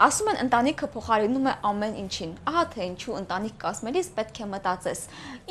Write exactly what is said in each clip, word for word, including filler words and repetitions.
Ասում են ընտանիքը փոխարինում է ամեն ինչին։ Ահա թե ինչու ընտանիք կազմելիս պետք է մտածես.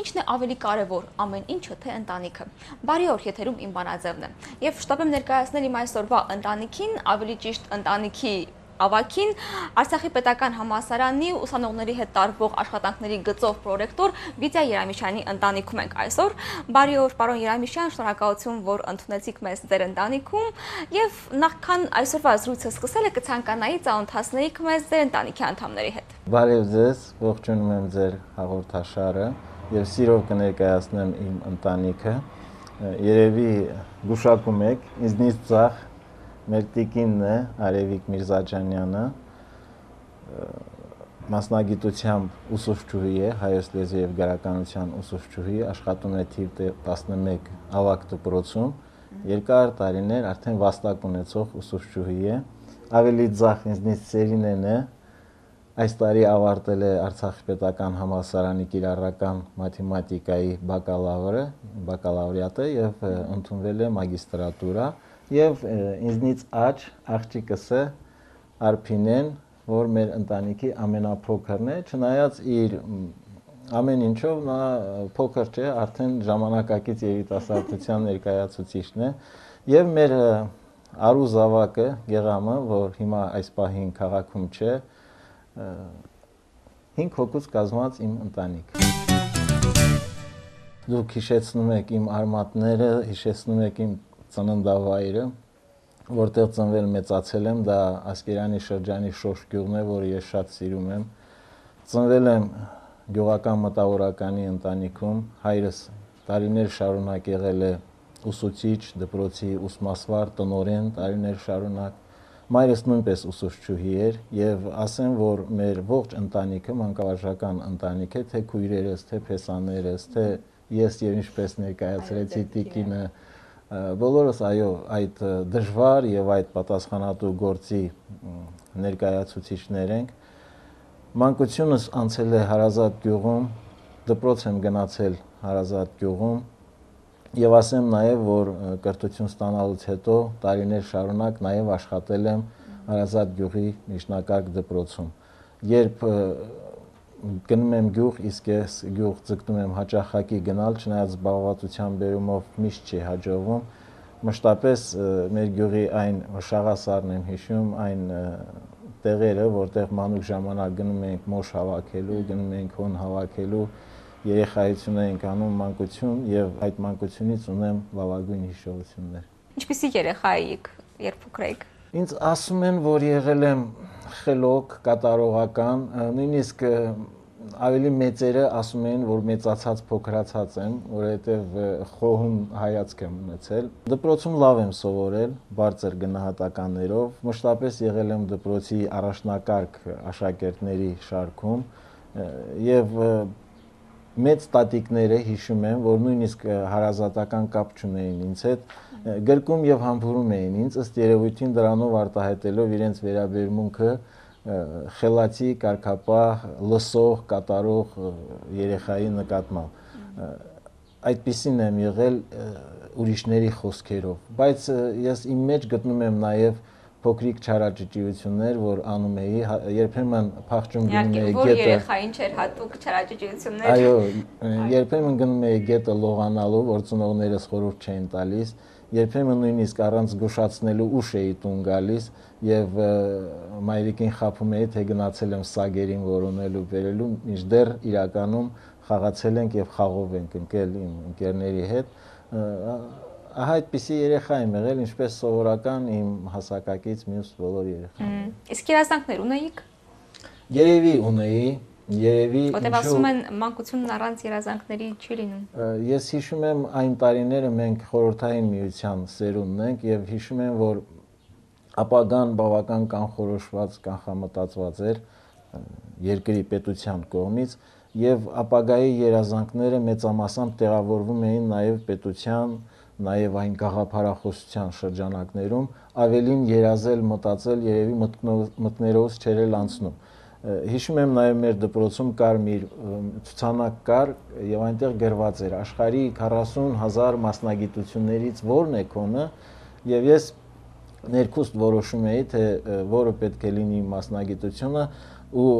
ինչն է ավելի կարևոր, ամեն ինչը թե ընտանիքը։ Բարի օր, եթերում Իմ բանաձևն է։ Եվ շտապ եմ ներկայացնել իմ այսօրվա ընտանիքին, ավելի ճիշտ ընտանիքի ավագին, Արցախի պետական համալսարանի ուսանողների հետ տարվող աշխատանքների գծով պրոռեկտոր Վիտա Երամիշյանի ընտանիքում ենք այսօր։ Բարի օր, պարոն Երամիշյան, շնորհակալություն, որ ընդունեցիք մեզ ձեր ընտանիքում, եւ նախքան այսօրվա զրույցը սկսելը կցանկանայի ծանոթացնեիք մեզ ձեր ընտանիքի անդամների հետ։ Բարև ձեզ, ողջունում եմ ձեր հաղորդաշարը եւ սիրով կներկայացնեմ իմ ընտանիքը։ Երևի գուշակում եք, ինձնից ծախ մեր տիկինն է Արևիկ Միրզաջանյանը, մասնագիտությամբ ուսուցչուհի է, հայոց լեզվի եւ գրականության ուսուցչուհի, աշխատում է թիվ տասնմեկ ավագ դպրոցում, երկար տարիներ արդեն վաստակ ունեցող ուսուցչուհի է, ավելի ձախ ինձնից Սերինեն է, այս տարի ավարտել է Արցախի պետական համալսարանի կիրառական մաթեմատիկայի բակալավրը, բակալավրիատը եւ ընդունվել է մագիստրատուրա։ Եվ ինձնից աջ աղջիկս է Արփինեն, որ մեր ընտանիքի ամենափոքրն է, չնայած իր ամեն ինչով նա փոքր չէ, արդեն ժամանակակից երիտասարդության ներկայացուցիչն է, եւ մեր արու զավակը Գեղամը, որ հիմա այս պահին քաղաքում չէ, հինգ հոգուց կազմված իմ ընտանիք։ Դուք հիշեցնում եք իմ արմատները, հիշեցնում եք իմ ծննդավայրը, որտեղ ծնվել մեծացել եմ, դա Ասկերանի շրջանի Շոշ գյուղն է, որը ես շատ սիրում եմ։ Ծնվել եմ գյուղական մտավորականի ընտանիքում, հայրս տարիներ շարունակ եղել է ուսուցիչ, դպրոցի ուսմասվար, տնօրեն տարիներ շարունակ։ Մայրս նույնպես ուսուցչուհի էր եւ ասեմ, որ մեր ողջ ընտանիքը մանկավարժական ընտանիք է, թե քույրերս, թե փեսաներս, թե ես եւ ինչպես ներկայացրեցի տիկինը, բոլորս այո, այդ դժվար եւ այդ պատասխանատու գործի ներկայացուցիչներ ենք։ Մանկությունս անցել է Հարազատ գյուղում, դպրոց եմ գնացել Հարազատ գյուղում եւ ասեմ նաեւ, որ կրթություն ստանալուց հետո տարիներ շարունակ նաեւ աշխատել եմ Հարազատ գյուղի միջնակարգ դպրոցում։ Երբ գնում եմ գյուղ, իսկ ես գյուղ ձգտում եմ հաճախակի գնալ, չնայած զբաղվածության բերումով միշտ չի հաջողվում, մշտապես մեր գյուղի այն շաղասարն եմ հիշում, այն տեղերը, որտեղ մանուկ ժամանակ գնում ենք մոշ հավաքելու, գնում ենք հոն հավաքելու, երեխայություն ենք անում, մանկություն, եւ այդ մանկությունից ունեմ լավագույն հիշողություններ։ Ինչպիսի երեխա էիք, երբ փոքր էիք։ Ինձ ասում են, որ եղել եմ խելոք, կատարողական, նույնիսկ ավելի մեծերը ասում են, որ մեծացած փոքրացած եմ, որովհետև խոհում հայացք եմ ունեցել։ Դպրոցում լավ եմ սովորել, բարձր գնահատականներով, մշտապես եղել եմ դպրոցի առաջնակարգ աշակերտների շարքում եւ մեծ տատիկները հիշում եմ, որ նույնիսկ հարազատական կապ չունեին ինձ հետ, գրկում եւ համբուրում էին ինձ, ըստ երևույթին դրանով արտահայտելով իրենց վերաբերմունքը խելացի, կարգապահ, լսող, կատարող երեխայի նկատմամբ։ Այդպիսին եմ եղել ուրիշների խոսքերով, բայց ես իմ մեջ գտնում եմ նաեւ փոքրիկ չարաճճիություններ, որ անում էի, երբեմն փախչում գնում էի գետը։ Որ երեխային չէր հատուկ չարաճճիություններ։ Այո, երբեմն գնում էի գետը լողանալու, որ ծնողներս խորհուրդ չէին տալիս, երբեմն նույնիսկ առանց զգուշացնելու ուշ էի տուն գալիս եւ մայրիկին խաբում էի, թե գնացել եմ սագերին որոնելու, բերելու, մինչդեռ իրականում խաղացել ենք եւ խաղով ենք ընկել իմ ընկերների հետ։ Ահա այդպիսի երեխա եմ եղել, ինչպես սովորական իմ հասակակից մյուս բոլոր երեխաները։ Իսկ երազանքներ ունեիք։ Երևի ունեի, երևի Որտեւ ասում են մանկությունն առանց երազանքների չի լինում։ Ես հիշում եմ այն տարիները մենք խորհրդային միության սերունդն ենք եւ հիշում եմ, որ ապագան բավական կանխորոշված, կանխամտածված էր երկրի պետության կողմից եւ ապագայի երազանքները մեծամասամբ տեղավորվում էին նաեւ պետության, նաեւ այն գաղափարախոսության շրջանակներում, ավելին երազել, մտածել երևի մտքներով չէր անցնում։ Հիշում եմ նաեւ մեր դպրոցում կար մի ցուցանակ կար եւ այնտեղ գրված էր աշխարհի քառասուն հազար մասնագիտություններից որն է քոնը, եւ ես ներքուստ որոշում էի, թե որը պետք է լինի մասնագիտությունը ու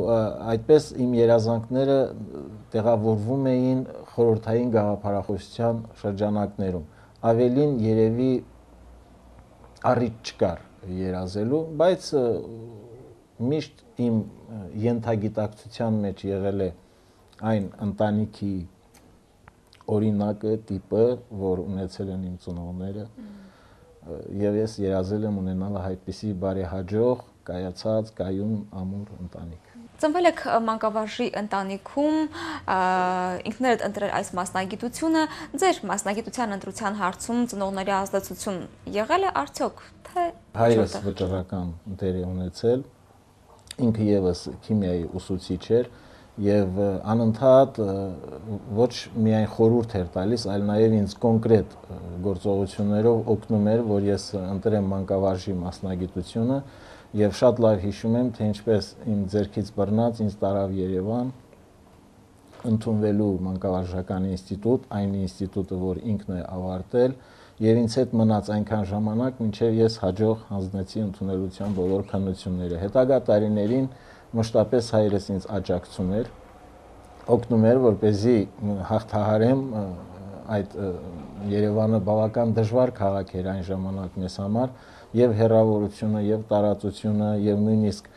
այդպես իմ երազանքները տեղավորվում էին խորհրդային գաղափարախոսության շրջանակներում։ Ավելին երևի առիթ չկար երազելու, բայց միշտ իմ ենթագիտակցության մեջ եղել է այն ընտանիքի օրինակը, տիպը, որ ունեցել են իմ ծնողները, եւ ես երազել եմ ունենալ այդպիսի բարեհաջող, կայացած, կայուն, ամուր ընտանիք։ Ծնվել եք մանկավարժի ընտանիքում, ինքներդ ընտրել այս մասնագիտությունը, ձեր մասնագիտության ընտրության հարցում ծնողների ազդեցություն եղել է արդյոք, թե հայրս վճռական դեր է ունեցել, ինքը եւս քիմիայի ուսուցիչ էր եւ անընդհատ ոչ միայն խորհուրդ էր տալիս, այլ նաեւ ինձ կոնկրետ գործողություններով օգնում էր, որ ես ընտրեմ մանկավարժի մասնագիտությունը եւ շատ լավ հիշում եմ, թե ինչպես իմ ձեռքից բռնած ինձ տարավ Երևան ընդունվելու մանկավարժական ինստիտուտ, այն ինստիտուտը, որ ինքն է ավարտել, եւ ինձ հետ մնաց այնքան ժամանակ, մինչեւ ես հաջող հանձնեցի ընդունելության բոլոր քննությունները։ Հետագա տարիներին մշտապես հայրս ինձ աջակցում էր, օգնում էր, որպեսզի հաղթահարեմ այդ Երևանը բավական դժվար քաղաք էր այն ժամանակ մեզ համար, եւ հեռավորությունը, եւ տարածությունը, եւ նույնիսկ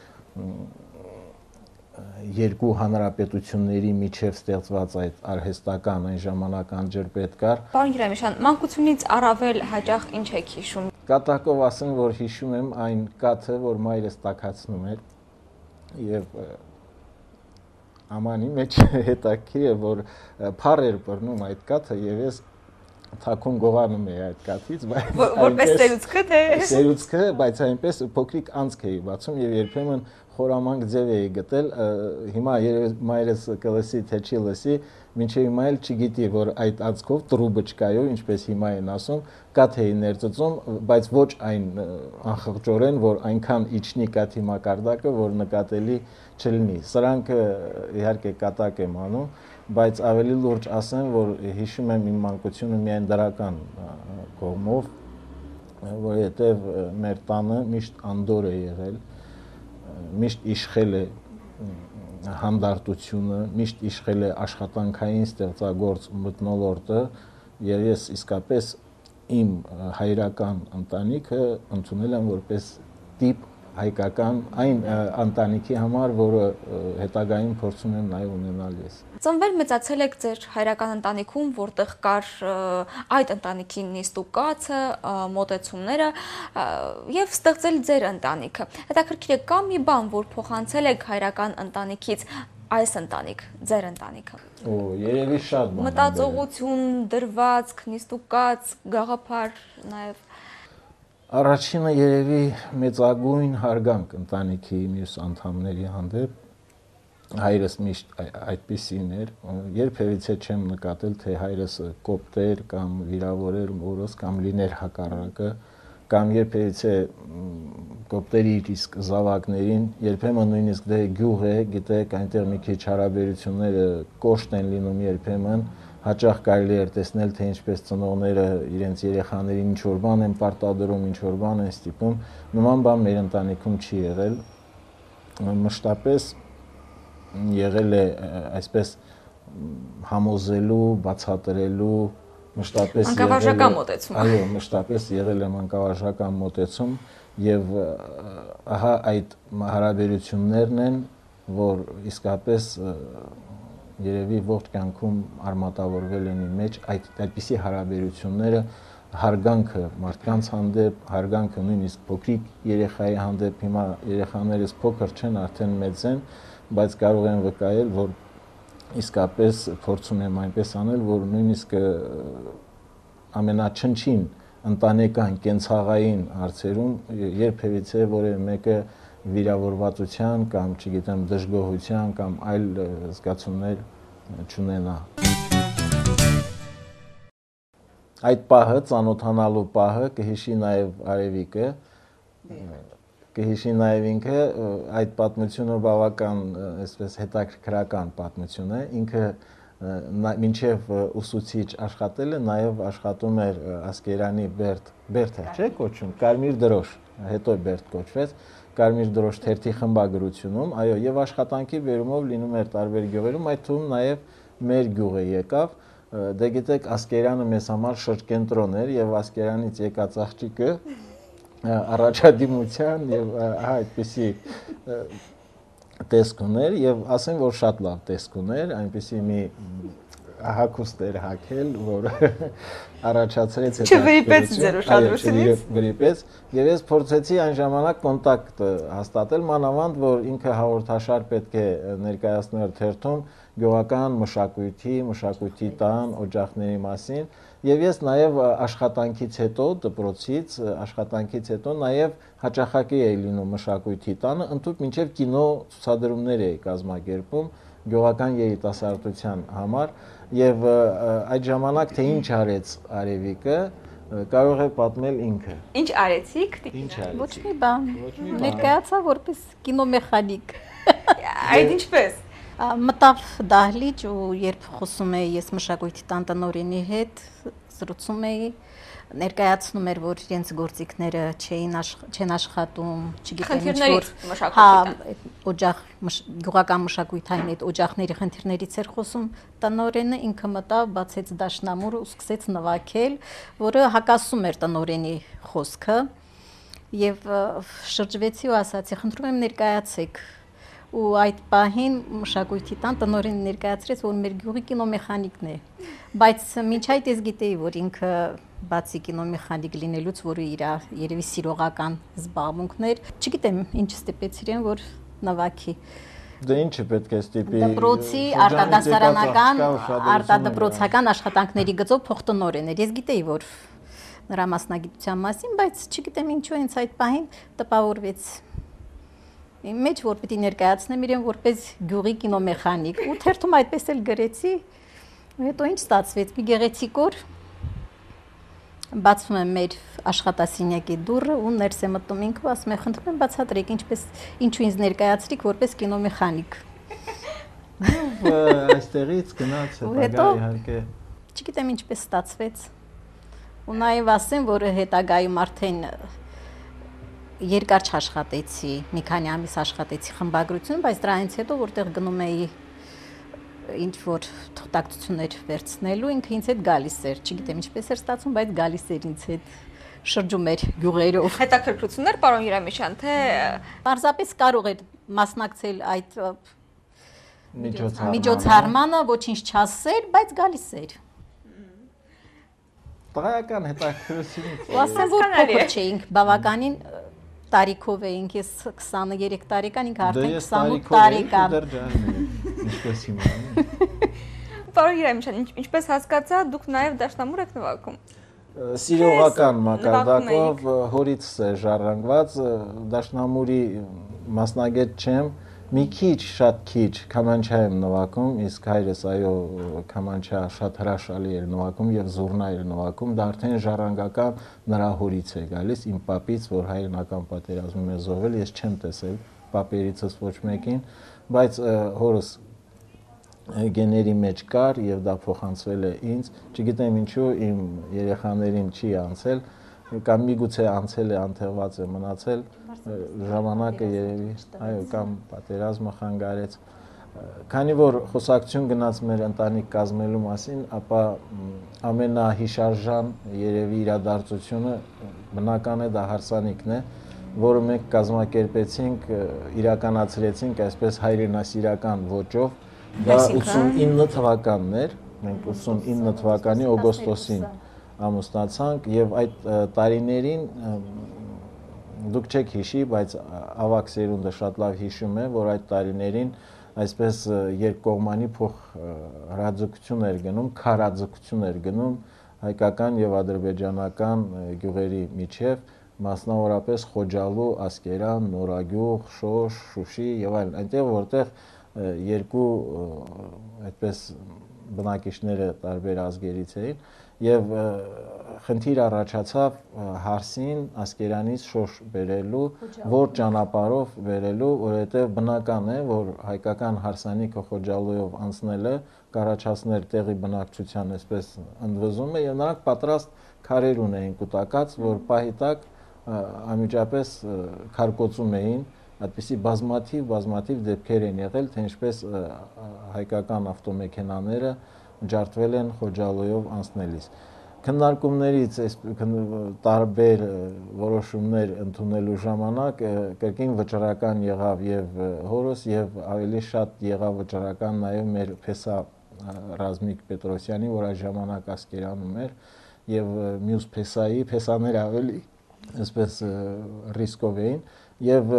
երկու հանրապետությունների միջև ստեղծված այդ արհեստական այն ժամանակ անջրպետ կար։ Պարոն Երեմիշյան, մանկությունից առավել հաճախ ինչ եք հիշում։ Կատակով ասեմ, որ հիշում եմ այն կաթը, որ մայրս տաքացնում էր եւ ամանի մեջ հետաքրքիր է, որ փառ էր բռնում այդ կաթը եւ ես թաքուն գողանում էի այդ կաթից, բայց որպես սերուցքը թե սերուցքը, բայց այնպես փոքրիկ անցք էի բացում եւ երբեմն խորամանկ ձև էի գտել, հիմա մայրս կլսի թե չի լսի, մինչեւ հիմա էլ չգիտի, որ այդ անցքով տրուբը չկայով, ինչպես հիմա են ասում, կաթ էի ներծծում, բայց ոչ այն անխղճորեն, որ այնքան իջնի կաթի մակարդակը, որ նկատելի չլինի։ Սրանք իհարկե կատակ եմ անում, բայց ավելի լուրջ ասեմ, որ հիշում եմ իմ մանկությունը միայն դրական կողմով, որովհետև մեր տանը միշտ անդոր է եղել, միշտ իշխել է հանդարտությունը, միշտ իշխել է աշխատանքային ստեղծագործ մթնոլորտը, եւ ես իսկապես իմ հայրական ընտանիքը ընդունել եմ որպես տիպ հայկական այն ընտանիքի համար, որը հետագայում փորձում եմ նաև ունենալ ես։ Ծնվել մեծացել եք ձեր հայրական ընտանիքում, որտեղ կար այդ ընտանիքի նիստուկացը, մոտեցումները եւ ստեղծել ձեր ընտանիքը։ Հետաքրքիր է, կա մի բան, որ փոխանցել եք հայրական ընտանիքից այս ընտանիք, ձեր ընտանիքը։ Օ, երևի շատ բան։ Մտածողություն, դրվածք, նիստուկաց, գաղափար նաև։ Առաջինը երևի մեծագույն հարգանք ընտանիքի մյուս անդամների հանդեպ, հայրս միշտ այդպիսին էր, երբևիցե չեմ նկատել, թե հայրս կոպտեր կամ վիրավորեր մորս կամ լիներ հակառակը, կամ երբևիցե կոպտերի իսկ զավակներին, երբեմն նույնիսկ դե գյուղ է, գիտեք, այնտեղ մի քիչ հարաբերությունները կոշտ են լինում երբեմն, հաճախ կարելի էր տեսնել, թե ինչպես ծնողները իրենց երեխաներին ինչ-որ բան են պարտադրում, ինչ-որ բան են ստիպում, նման բան մեր ընտանիքում չի եղել, մշտապես եղել է այսպես համոզելու, բացատրելու, մշտապես մանկավարժական մոտեցում։ Այո, մշտապես եղել է մանկավարժական մոտեցում եւ ահա այդ հարաբերություններն են, որ իսկապես երևի ողջ կյանքում արմատավորվել են իմ մեջ, այդ այդպիսի հարաբերությունները, հարգանքը մարդկանց հանդեպ, հարգանքը նույնիսկ փոքրիկ երեխայի հանդեպ, հիմա երեխաներս փոքր չեն, արդեն մեծ են, բայց կարող են վկայել, որ իսկապես փորձում եմ այնպես անել, որ նույնիսկ ամենաչնչին ընտանեկան կենցաղային հարցերում երբևիցե որևէ մեկը վիրավորվածության կամ, չգիտեմ, դժգոհության կամ այլ զգացումներ չունենա։ Այդ պահը, ծանոթանալու պահը կհիշի նաև Արևիկը, կհիշի նաև ինքը, այդ պատմությունը բավական այսպես հետաքրքրական պատմություն է, ինքը մինչև ուսուցիչ աշխատել է, նաև աշխատում էր Ասկերանի Բերդ, Բերդ է, չէ՞ կոչում, Կարմիր դրոշ, հետո Բերդ կոչվեց, Կարմիր դրոշ թերթի խմբագրությունում, այո, եւ աշխատանքի բերումով լինում էր տարբեր գյուղերում, այդ թվում նաեւ մեր գյուղը եկավ, դե գիտեք Ասկերյանը մեզ համար շրջկենտրոն էր եւ Ասկերյանից եկած աղջիկը առաջադիմության եւ այդպիսի տեսք ուներ եւ ասեմ որ շատ լավ տեսք ուներ, այնպիսի մի հակուստ էր հակել, որ առաջացրեց այդ չվրիպեց ձեր ուշադրությունից վրիպեց եւ ես փորձեցի այն ժամանակ կոնտակտ հաստատել մանավանդ որ ինքը հաղորդաշար պետք է ներկայացներ թերթում գյուղական մշակույթի, մշակույթի տան, օջախների մասին եւ ես նաեւ աշխատանքից հետո դպրոցից աշխատանքից հետո նաեւ հաճախակի էի լինում մշակույթի տանը, ընդհանուր մինչեւ կինո ցուցադրումներ էի կազմակերպում գյուղական երիտասարդության համար եւ այդ ժամանակ թե ինչ արեց Արևիկը կարող է պատմել ինքը։ Ինչ արեցիք? Ոչ մի բան։ Ներկայացա որպես կինոմեխանիկ։ Այդ ինչպես։ Մտավ դահլիճ ու երբ խոսում էի ես մշակույթի տան տնօրենի հետ, զրուցում էի, ներկայացնում էր որ իրենց գործիքները չէին չեն աշխատում, չգիտեմ ինչ որ հա օջախ գյուղական մշակույթային այդ օջախների խնդիրներից էր խոսում տնօրենը, ինքը մտավ, բացեց դաշնամուրը ու սկսեց նվագել, որը հակասում էր տնօրենի խոսքը եւ շրջվեցի ու ասացի խնդրում եմ ներկայացեք ու այդ պահին մշակույթի տան տնօրենը ներկայացրեց որ մեր գյուղի կինոմեխանիկն է բայց մինչ այդ ես գիտեի որ ինքը բացի կինոմեխանիկ լինելուց որը իր երևի սիրողական զբաղմունքն էր չգիտեմ ինչ ստիպեց իրեն որ նվագի դե ինչը պետք է ստիպի դպրոցի արտադասարանական արտադպրոցական աշխատանքների գծով փոխտնօրեն էր ես գիտեի որ նրա մասնագիտության մասին բայց չգիտեմ ինչու հենց այդ պահին տպավորվեց Իմ մեջ որ պիտի ներկայացնեմ իրեն որպես գյուղի կինոմեխանիկ ու թերթում այդպես էլ գրեցի հետո ինչ ստացվեց մի գեղեցիկ օր բացվում է մեր աշխատասենյակի դուռը ու ներս է մտնում ինքը ասում է խնդրում եմ բացատրեք ինչպես ինչու ինձ ներկայացրիք որպես կինոմեխանիկ այստեղից գնաց հետագա իհարկե չգիտեմ ինչպես ստացվեց ու նաև ասեմ որ հետագայում արդեն երկար չաշխատեցի, մի քանի ամիս աշխատեցի խմբագրություն, բայց դրանից հետո որտեղ գնում էի ինչ որ թղթակցություններ վերցնելու, ինքը ինձ հետ գալիս էր, չգիտեմ ինչպես էր ստացվում, բայց գալիս էր ինձ հետ շրջում էր գյուղերով։ Հետաքրքրություններ, պարոն Երամիշյան, թե պարզապես կարող էր մասնակցել այդ միջոցառմանը, ոչինչ չասել, բայց գալիս էր։ Տղայական հետաքրքրությունից։ Ու ասեմ որ փոքր չէինք, բավականին տարիքով էինք, ես քսաներեք տարեկան, ինքը արդեն քսանութ տարեկան։ Ինչպես հիմա։ Պարոն Երամիշյան, ինչպես հասկացա, դուք նաև դաշնամուր եք նվագում։ Սիրողական մակարդակով հորից է ժառանգված, դաշնամուրի մասնագետ չեմ, մի քիչ, շատ քիչ քամանչա եմ նվագում, իսկ հայրս այո քամանչա շատ հրաշալի էր նվագում եւ զուռնա էր նվագում, դա արդեն ժառանգական նրա հորից է գալիս, իմ պապից, որ հայրենական պատերազմում է զոհվել, ես չեմ տեսել պապերիցս ոչ մեկին, բայց հորս գեների մեջ կար եւ դա փոխանցվել է ինձ, չգիտեմ ինչու իմ երեխաներին չի անցել, կամ միգուցե անցել է, անթեղված է մնացել, ժամանակը երևի, այո, կամ պատերազմը խանգարեց։ Քանի որ խոսակցություն գնաց մեր ընտանիք կազմելու մասին, ապա ամենահիշարժան երևի իրադարձությունը բնական է դա հարսանիքն է, որը մենք կազմակերպեցինք, իրականացրեցինք այսպես հայրենասիրական ոճով, դա ութսունինը թվականն էր, մենք ութսունինը թվականի օգոստոսին ամուսնացանք եւ այդ տարիներին դուք չեք հիշի, բայց ավակ սերունդը շատ լավ հիշում է, որ այդ տարիներին այսպես երկկողմանի փոխ հրաձգություն էր գնում, քարաձգություն էր գնում հայկական եւ ադրբեջանական գյուղերի միջև, մասնավորապես Խոջալու, Ասկերան, Նորագյուղ, Շոշ, Շուշի եւ այլն, այնտեղ որտեղ երկու այդպես բնակիչները տարբեր ազգերից էին եւ խնդիր առաջացավ Հարսին Ասկերանից Շոշ բերելու, որ ճանապարհով բերելու, որովհետեւ բնական է, որ հայկական հարսանիքը Խոջալույով անցնելը կառաջացներ տեղի բնակչության այսպես ընդվզումը եւ նրանք պատրաստ քարեր ունեին կուտակած, որ պահի տակ անմիջապես քարկոծում էին, այդպիսի բազմաթիվ բազմաթիվ դեպքեր են եղել, թե ինչպես հայկական ավտոմեքենաները ջարդվել են Խոջալոյով անցնելիս։ Քննարկումներից այս տարբեր որոշումներ ընդունելու ժամանակ կրկին վճռական եղավ եւ հորս եւ ավելի շատ եղավ վճռական նաեւ մեր փեսա Ռազմիկ Պետրոսյանի, որ այս ժամանակ Ասկերանում էր, եւ մյուս փեսայի փեսաները ավելի այսպես ռիսկով էին եւ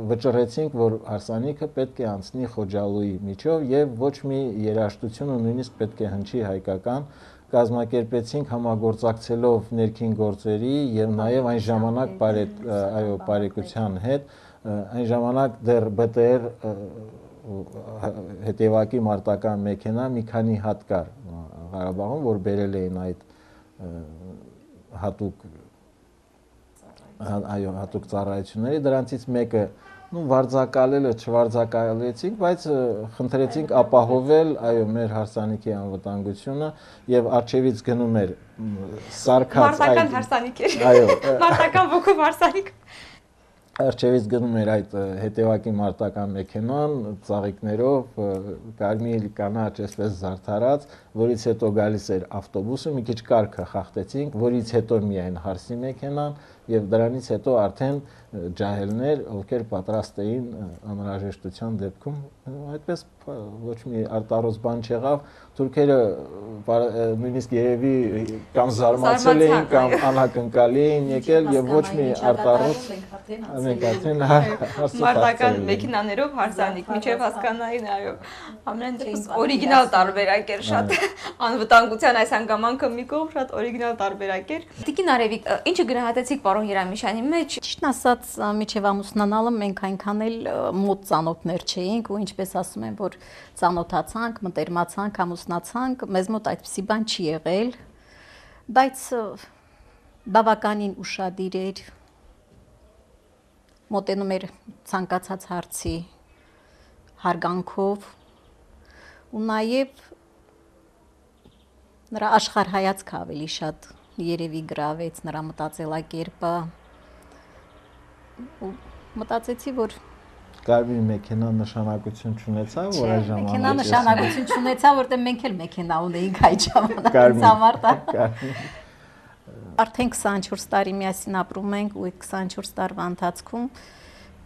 վճռեցինք, որ հարսանիքը պետք է անցնի Խոջալոյի միջով եւ ոչ մի երաժշտություն ու նույնիսկ պետք է հնչի հայկական, կազմակերպեցինք համագործակցելով ներքին գործերի եւ նաեւ այն ժամանակ այո բարեկության հետ, այն ժամանակ դեռ B T R հետևակի մարտական մեքենա մի քանի հատ կար Ղարաբաղում, որ բերել էին այդ հատուկ այո հատուկ ծառայությունների, դրանցից մեկը նու վարձակալելը չվարձակալեցինք, բայց խնդրեցինք ապահովել այո մեր հարսանիքի անվտանգությունը եւ արչեվից գնում էր սարքած մարտական հարսանիք էր այո մարտական ոգով հարսանիք Արջևից գնում էր այդ հետևակի մարտական մեքենան ծաղիկներով կարմիր կանաչ այսպես զարդարած, որից հետո գալիս էր ավտոբուսը, մի քիչ կարգը խախտեցինք, որից հետո միայն հարսի մեքենան եւ դրանից հետո արդեն ջահելներ, ովքեր պատրաստ էին անհրաժեշտության դեպքում, այդպես ոչ մի արտարոց բան չեղավ, թուրքերը նույնիսկ երևի կամ զարմացել էին կամ անակնկալի էին եկել եւ ոչ մի արտարոց մենք արդեն մարտական մեքենաներով հարսանիք միջև հասկանային այո ամեն դեպքում օրիգինալ տարբերակ էր շատ անվտանգության այս հանգամանքը մի կողմ շատ օրիգինալ տարբերակ էր Տիկին Արևիկ ինչը գնահատեցիք պարոն Երամիշյանի մեջ ճիշտն ասած միջև ամուսնանալը մենք այնքան էլ մոտ ծանոթներ չէինք ու ինչպես ասում են որ ծանոթացանք մտերմացանք ամուսնացանք մեզ մոտ այդպիսի բան չի եղել բայց բավականին ուշադիր էր մոտենում էր ցանկացած հարցի հարգանքով ու նաև նրա աշխարհայացքը ավելի շատ երևի գրավեց նրա մտածելակերպը ու մտածեցի որ Կարմիր մեքենա նշանակություն չունեցավ, որ այս ժամանակ մեքենա նշանակություն չունեցավ, որտեղ մենք էլ մեքենա ունեինք այդ ժամանակ համար դա Արդեն քսանչորս տարի միասին ապրում ենք ու այդ քսանչորս տարվա ընթացքում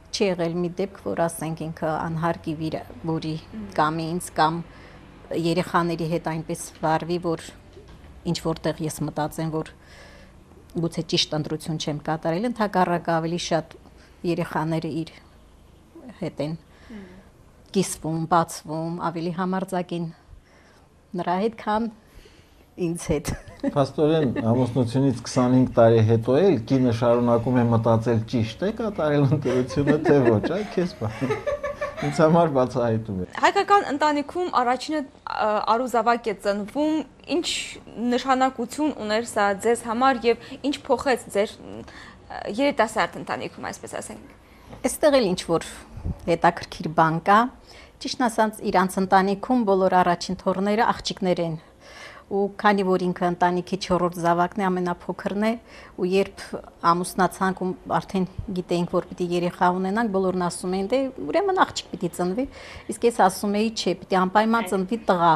չի եղել մի դեպք, որ ասենք ինքը անհարկի որի կամ ինձ կամ երեխաների հետ այնպես վարվի, որ ինչ որտեղ ես մտածեմ, որ գուցե ճիշտ ընտրություն չեմ կատարել, ընդհակառակը ավելի շատ երեխաները իր հետ են կիսվում, բացվում, ավելի համարձակ են նրա հետ, քան ինձ հետ։ Փաստորեն ամուսնությունից քսանհինգ տարի հետո էլ կինը շարունակում է մտածել ճիշտ է կատարել ընտրությունը, թե ոչ, այ քեզ բան։ Ինձ համար բացահայտում է։ Հայկական ընտանիքում առաջինը արուզավակ է ծնվում, ինչ նշանակություն ուներ սա ձեզ համար եւ ինչ փոխեց ձեր երիտասարդ ընտանիքում, այսպես ասենք։ Այստեղ էլ ինչ որ հետաքրքիր բան կա, ճիշտ ասած իրանց ընտանիքում բոլոր առաջին թոռները աղջիկներ են։ Ու քանի որ ինքը ընտանիքի չորրորդ զավակն է, ամենափոքրն է, ու երբ ամուսնացանք ու արդեն գիտեինք, որ պիտի երեխա ունենանք, բոլորն ասում էին, դե ուրեմն աղջիկ պիտի ծնվի, իսկ ես ասում էի, չէ, պիտի անպայման ծնվի տղա։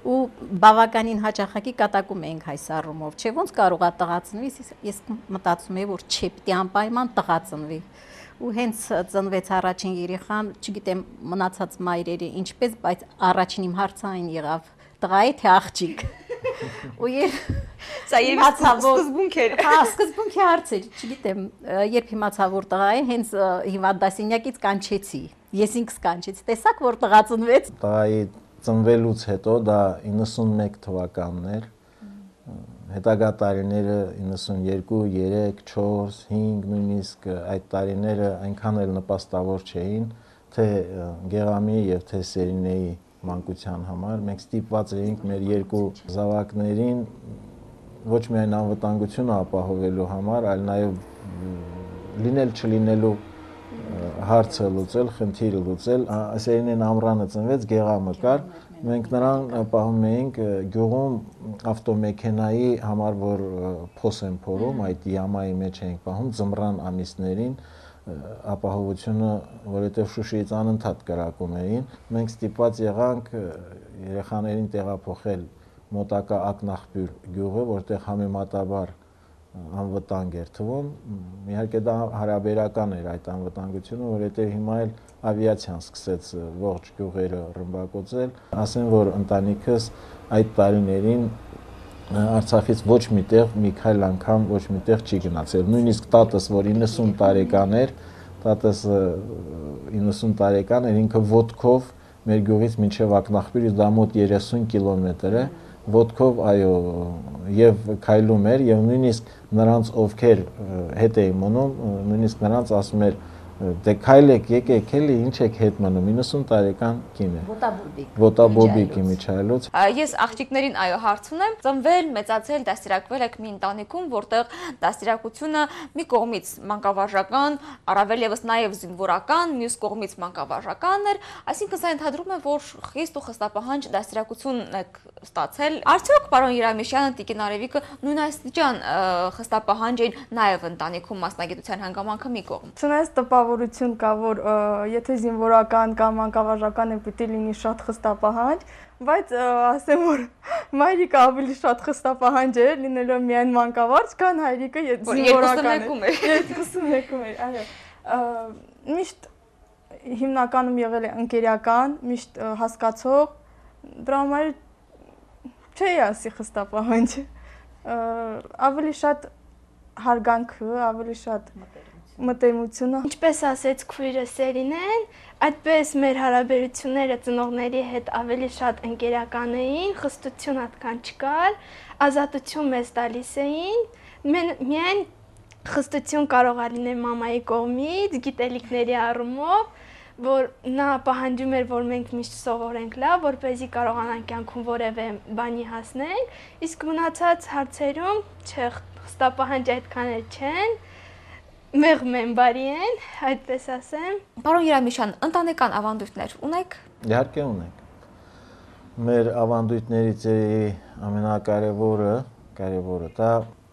Ու բավականին հաճախակի կատակում էինք այս առումով, չէ, ոնց կարող է տղա ծնվի, ես մտածում էի, որ չէ, պիտի անպայման տղա ծնվի։ Ու հենց ծնվեց առաջին երեխան, չգիտեմ մնացած մայրերը ինչպես, բայց առաջին իմ հարցը այն եղավ տղա է թե աղջիկ ու երբ սա սկզբունք էր հա սկզբունքի հարց էր չգիտեմ երբ իմացա որ տղա է հենց հիմա դասինյակից կանչեցի ես ինքս կանչեցի տեսակ որ տղա ծնվեց տղայի ծնվելուց հետո դա իննսունմեկ թվականն էր հետագա տարիները իննսունյերկու, երեք, չորս, հինգ նույնիսկ այդ տարիները այնքան էլ նպաստավոր չէին թե Գեղամի եւ թե Սերինեի մանկության համար մենք ստիպված էինք մեր երկու զավակներին ոչ միայն անվտանգությունը ապահովելու համար, այլ նաև լինել չլինելու հարցը լուծել, խնդիրը լուծել։ Սերինեն ամռանը ծնվեց, Գեղամը կար, Մենք նրան պահում էինք գյուղում ավտոմեքենայի համար, որ փոս են փորում, այդ յամայի մեջ էինք պահում ձմռան ամիսներին, ապահովությունը, որովհետև Շուշիից անընդհատ կրակում էին, մենք ստիպված եղանք երեխաներին տեղափոխել մոտակա Ակնախբյուր գյուղը, որտեղ համեմատաբար անվտանգ էր թվում, իհարկե դա հարաբերական էր այդ անվտանգությունը, որովհետև հիմա էլ ավիացիան սկսեց ողջ գյուղերը ռմբակոծել, ասեմ, որ ընտանիքս այդ տարիներին Արցախից ոչ միտեղ մի քայլ անգամ ոչ միտեղ չի գնացել, նույնիսկ տատս, որ իննսուն տարեկան էր, տատս իննսուն տարեկան էր, ինքը ոտքով մեր գյուղից մինչև Ակնախբյուր, դա մոտ երեսուն կիլոմետր է, ոտքով այո եւ քայլում էր եւ նույնիսկ նրանց ովքեր հետ էին մնում, նույնիսկ նրանց ասում էր դե քայլեք, եկեք, էլի ինչ եք հետ մնում, իննսուն տարեկան կին է։ Ոտաբոբիկ։ Ոտաբոբիկ Իմիջայլոց։ Ես աղջիկներին այո հարց ունեմ, ծնվել, մեծացել, դաստիարակվել եք մի ընտանիքում, որտեղ դաստիարակությունը մի կողմից մանկավարժական, առավել եւս նաեւ զինվորական, մյուս կողմից մանկավարժական էր, այսինքն սա ընդհանրում է, որ խիստ ու խստապահանջ դաստիարակություն եք ստացել։ Արդյոք պարոն Երամիշյանը, Տիկին Արևիկը նույն աստիճան խստապահանջ էին նաեւ ընտանիքում մասնագիտության հանգամանքը մի կողմ։ Չնայած տպավորություն կա, որ եթե զինվորական կամ մանկավարժական է պիտի լինի շատ խստապահանջ, բայց ասեմ, որ մայրիկը ավելի շատ խստապահանջ էր, լինելով միայն մանկավարժ, քան հայրիկը զինվորական էր։ երկուսունեկում էր, այո։ Միշտ հիմնականում եղել է ընկերական, միշտ հասկացող, դրա համար չէի ասի խստապահանջ, ավելի շատ հարգանքը, ավելի շատ մտերմությունը։ Ինչպես ասեց քույրը Սերինեն, այդպես մեր հարաբերությունները ծնողների հետ ավելի շատ ընկերական էին, խստություն այդքան չկար, ազատություն մեզ տալիս էին, միայն խստություն կարող է լինել մամայի կողմից, գիտելիքների առումով, որ նա պահանջում էր, որ մենք միշտ սովորենք լավ, որպեսզի կարողանանք կյանքում որևէ բանի հասնենք, իսկ մնացած հարցերում չէ, խստապահանջ այդքան էլ չեն, մեղմ են, բարի են, այդպես ասեմ։ Պարոն Երամիշյան, ընտանեկան ավանդույթներ ունեք։ Իհարկե ունենք։ Մեր ավանդույթներից ամենակարևորը, կարևորը դա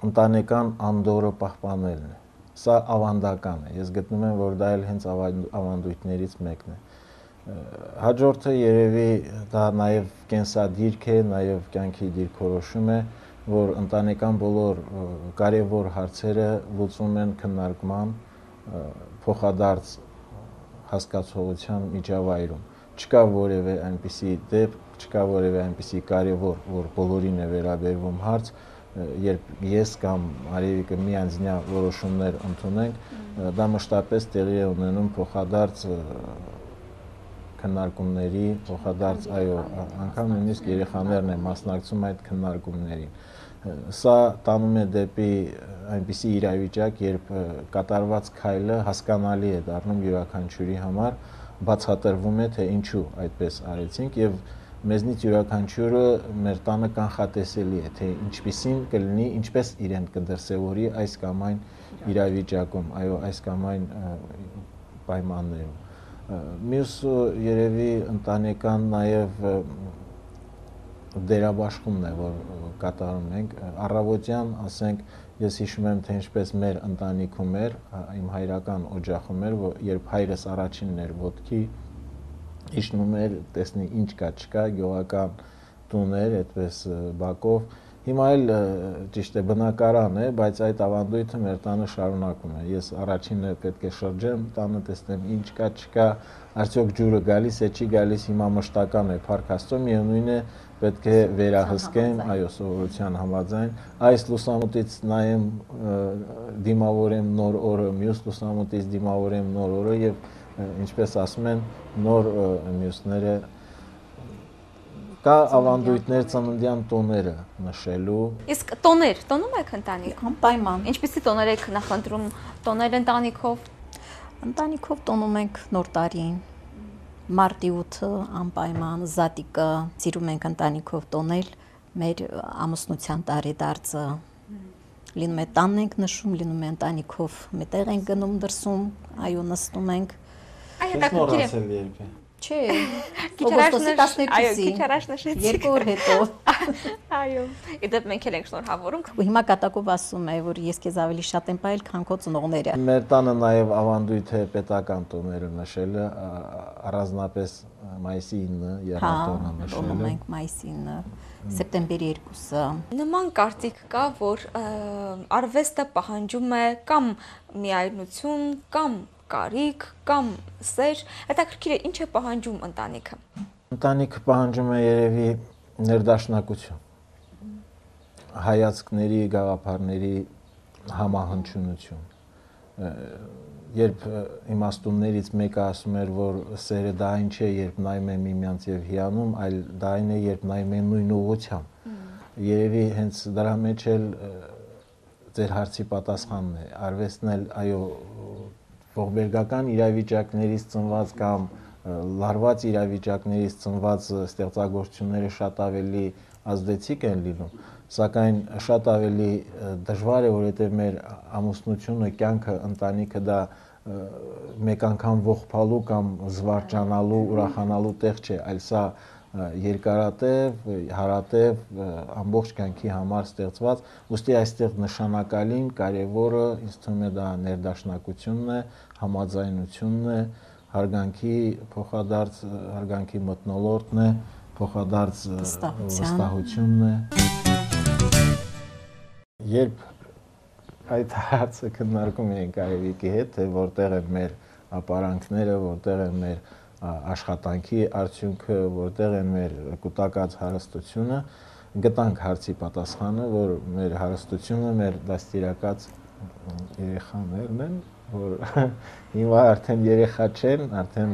ընտանեկան անդորը պահպանելն է։ Սա ավանդական է։ Ես գտնում եմ, որ դա էլ հենց ավանդույթներից մեկն է։ Հաջորդը երևի դա նաև կենսադիրք է, նաև կյանքի դիրքորոշում է, որ ընտանեկան բոլոր կարևոր հարցերը լուծում են քննարկման, փոխադարձ հասկացողության միջավայրում։ Չկա որևէ այնպիսի դեպք, չկա որևէ այնպիսի կարևոր, որ բոլորին է վերաբերվում հարց, երբ ես կամ Արևիկը միանձնյա որոշումներ ընդունենք, դա մշտապես տեղի է ունենում փոխադարձ քննարկումների, փոխադարձ այո, անգամ նույնիսկ երեխաներն են մասնակցում այդ քննարկումներին։ Սա տանում է դեպի այնպիսի իրավիճակ, երբ կատարված քայլը հասկանալի է դառնում յուրաքանչյուրի համար, բացատրվում է, թե ինչու այդպես արեցինք եւ մեզնից յուրաքանչյուրը մեր տանը կանխատեսելի է, թե ինչպիսին կլինի, ինչպես իրեն կդրսևորի այս կամ այն իրավիճակում, այո, այս կամ այն պայմաններում։ Մյուս երևի ընտանեկան նաև դերաբաշխումն է, որ կատարում ենք, առավոտյան, ասենք, ես հիշում եմ, թե ինչպես մեր ընտանիքում էր, իմ հայրական օջախում էր, երբ հայրս առաջինն էր ոտքի, իջնում էր, տեսնի ինչ կա, չկա, գյուղական տուն էր, այդպես բակով, հիմա էլ ճիշտ է բնակարան է, բայց այդ ավանդույթը մեր տանը շարունակում է, ես առաջինն է պետք է շրջեմ, տանը տեսնեմ ինչ կա, չկա, արդյոք ջուրը գալիս է, չի գալիս, հիմա մշտական է, Փառք Աստծո, միևնույն է պետք է վերահսկեմ, այո, սովորության համաձայն, այս լուսամուտից նայեմ, դիմավորեմ նոր օրը, մյուս լուսամուտից դիմավորեմ նոր օրը եւ ինչպես ասում են, նոր մյուսները կա ավանդույթներ ծննդյան տոները նշելու։ Իսկ տոներ, տոնում եք ընտանիք։ Անպայման։ Ինչպիսի տոներ եք նախընտրում, տոներ ընտանիքով։ Ընտանիքով տոնում ենք Նոր տարին, մարտի ութը անպայման, Զատիկը, սիրում ենք ընտանիքով տոնել, մեր ամուսնության տարեդարձը լինում է տանն ենք նշում, լինում է ընտանիքով մետեղ ենք գնում դրսում, այո նստում ենք։ Այ հետաքրքիր է։ Չէ, Օգոստոսի տասներկուսին։ Այո, քիչ առաջ նշեցիք։ Երկու օր հետո։ Այո։ Իդեպ մենք էլ ենք շնորհավորում։ Ու հիմա կատակով ասում է, որ ես քեզ ավելի շատ եմ պահել, քան քո ծնողները։ Մեր տանը նաև ավանդույթ է պետական տոները նշելը, առանձնապես մայիսի ինը եռատոնը նշելը։ Հա, մենք մայիսի ինը, սեպտեմբերի երկուսը։ Նման կարծիք կա, որ արվեստը պահանջում է կամ միայնություն, կամ կարիք, կամ սեր, հետաքրքիր է ինչ է պահանջում ընտանիքը։ Ընտանիքը պահանջում է երևի ներդաշնակություն, հայացքների, գաղափարների համահնչյունություն։ Երբ իմաստուններից մեկը ասում էր, որ սերը դա այն չէ, երբ նայում եմ միմյանց եւ հիանում, այլ դա այն է, երբ նայում եմ նույն ուղղությամբ։ Երևի հենց դրա մեջ էլ ձեր հարցի պատասխանն է։ Արվեստն էլ, այո, ողբերգական իրավիճակներից ծնված կամ լարված իրավիճակներից ծնված ստեղծագործությունները շատ ավելի ազդեցիկ են լինում, սակայն շատ ավելի դժվար է, որովհետև մեր ամուսնությունը, կյանքը, ընտանիքը դա մեկ անգամ ողբալու կամ զվարճանալու, ուրախանալու տեղ չէ, այլ սա երկարատև, հարատև, ամբողջ կյանքի համար ստեղծված, ուստի այստեղ նշանակալին, կարևորը ինձ թվում է դա ներդաշնակությունն է, համաձայնությունն է, հարգանքի փոխադարձ, հարգանքի մթնոլորտն է, փոխադարձ վստահությունն է։ Երբ այդ հարցը քննարկում ենք Արևիկի հետ, թե որտեղ են մեր ապարանքները, որտեղ են մեր աշխատանքի արդյունքը, որտեղ են մեր կուտակած հարստությունը, գտանք հարցի պատասխանը, որ մեր հարստությունը մեր դաստիարակած երեխաներն են, որ հիմա արդեն երեխա չեն, արդեն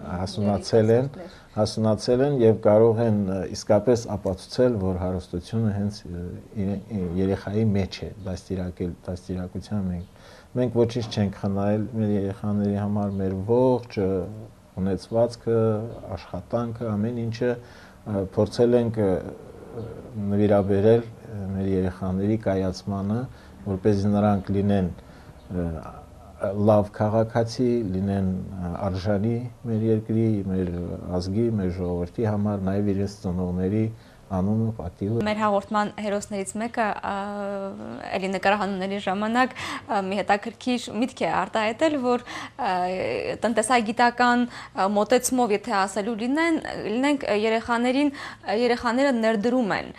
հասունացել են, հասունացել են եւ կարող են իսկապես ապացուցել, որ հարստությունը հենց երեխայի մեջ է, դաստիարակել, դաստիարակության մենք մենք ոչինչ չենք խնայել մեր երեխաների համար, մեր ողջ ունեցվածքը, աշխատանքը, ամեն ինչը փորձել ենք նվիրաբերել մեր երեխաների կայացմանը, որպեսզի նրանք լինեն լավ քաղաքացի, լինեն արժանի մեր երկրի, մեր ազգի, մեր ժողովրդի համար, նաև իրենց ծնողների անունը, պատիվը։ Մեր հաղորդման հերոսներից մեկը էլի նկարահանումների ժամանակ մի հետաքրքիր միտք է արտահայտել, որ տնտեսագիտական մոտեցումով, եթե ասելու լինեն, լինենք երեխաներին, երեխաները ներդրում են։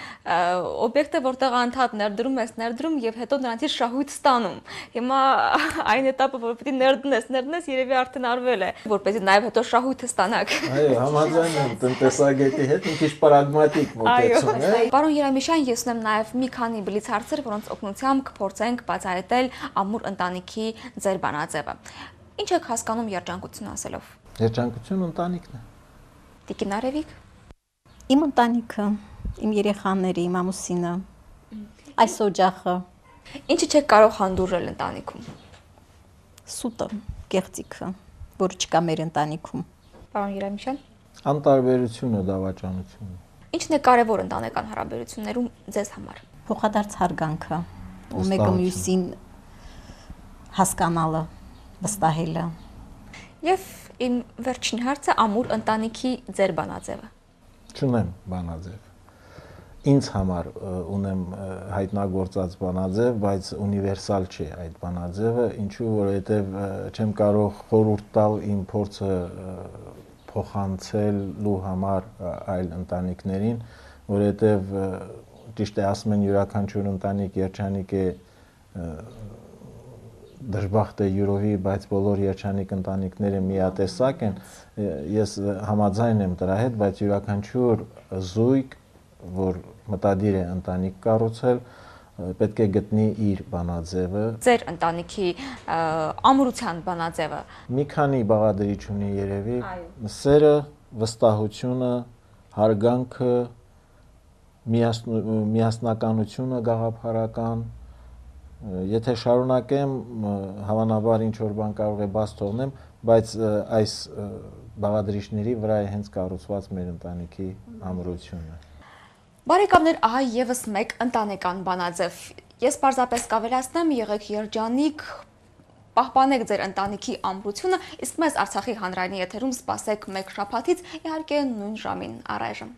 Օբյեկտը, որտեղ անդադ ներդրում ես, ներդրում եւ հետո նրանցից շահույթ ստանում։ Հիմա այն этаպը, որ պետք է ներդնես, ներդնես, երևի արդեն արվել է, որպեսզի նաեւ հետո շահույթը ստանաք։ Այո, համաձայն եմ տնտեսագետի հետ, մի քիչ պրագմատիկ մոտ Պարոն Երեմիշյան, ես ունեմ նաև մի քանի բլից հարցեր, որոնց օգնությամբ կփորձենք բացահայտել ամուր ընտանիքի ձեր բանաձևը։ Ինչ եք հասկանում երջանկություն ասելով։ Երջանկություն ընտանիքն է։ Տիկին Արևիկ։ Իմ ընտանիքը, իմ երեխաները, իմ ամուսինը, այս օջախը։ Ինչը չեք կարող հանդուրժել ընտանիքում։ Սուտը, կեղծիքը, որ չկա մեր ընտանիքում։ Պարոն Երեմիշյան։ Անտարբերությունը, դավաճանությունը։ Ինչն է կարևոր ընտանեկան հարաբերություններում ձեզ համար։ Փոխադարձ հարգանքը, ու մեկը մյուսին հասկանալը, վստահելը։ Եվ իմ վերջին հարցը ամուր ընտանիքի ձեր բանաձևը։ Չունեմ բանաձև։ Ինձ համար ունեմ հայտնագործած բանաձև, բայց ունիվերսալ չէ այդ բանաձևը, ինչու որովհետև չեմ կարող խորհուրդ տալ իմ փորձը փոխանցելու համար այլ ընտանիքներին, որովհետև ճիշտ է ասում են յուրաքանչյուր ընտանիք երջանիկ է, դժբախտ է յուրովի, բայց բոլոր երջանիկ ընտանիքները միատեսակ են, ես համաձայն եմ դրա հետ, բայց յուրաքանչյուր զույգ, որ մտադիր է ընտանիք կառուցել, պետք է գտնի իր բանաձևը։ Ձեր ընտանիքի ամրության բանաձևը։ Մի քանի բաղադրիչ ունի երևի, սերը, վստահությունը, հարգանքը, միասնականությունը գաղափարական, եթե շարունակեմ, հավանաբար ինչ որ բան կարող է բաց թողնեմ, բայց այս բաղադրիչների վրա է հենց կառուցված մեր ընտանիքի ամրությունը։ Բարեկամներ, ահա եւս մեկ ընտանեկան բանաձև։ Ես պարզապես կավելացնեմ, եղեք երջանիկ, պահպանեք ձեր ընտանիքի ամրությունը, իսկ մեզ Արցախի հանրայինի եթերում սպասեք մեկ շաբաթից, իհարկե նույն ժամին առայժմ։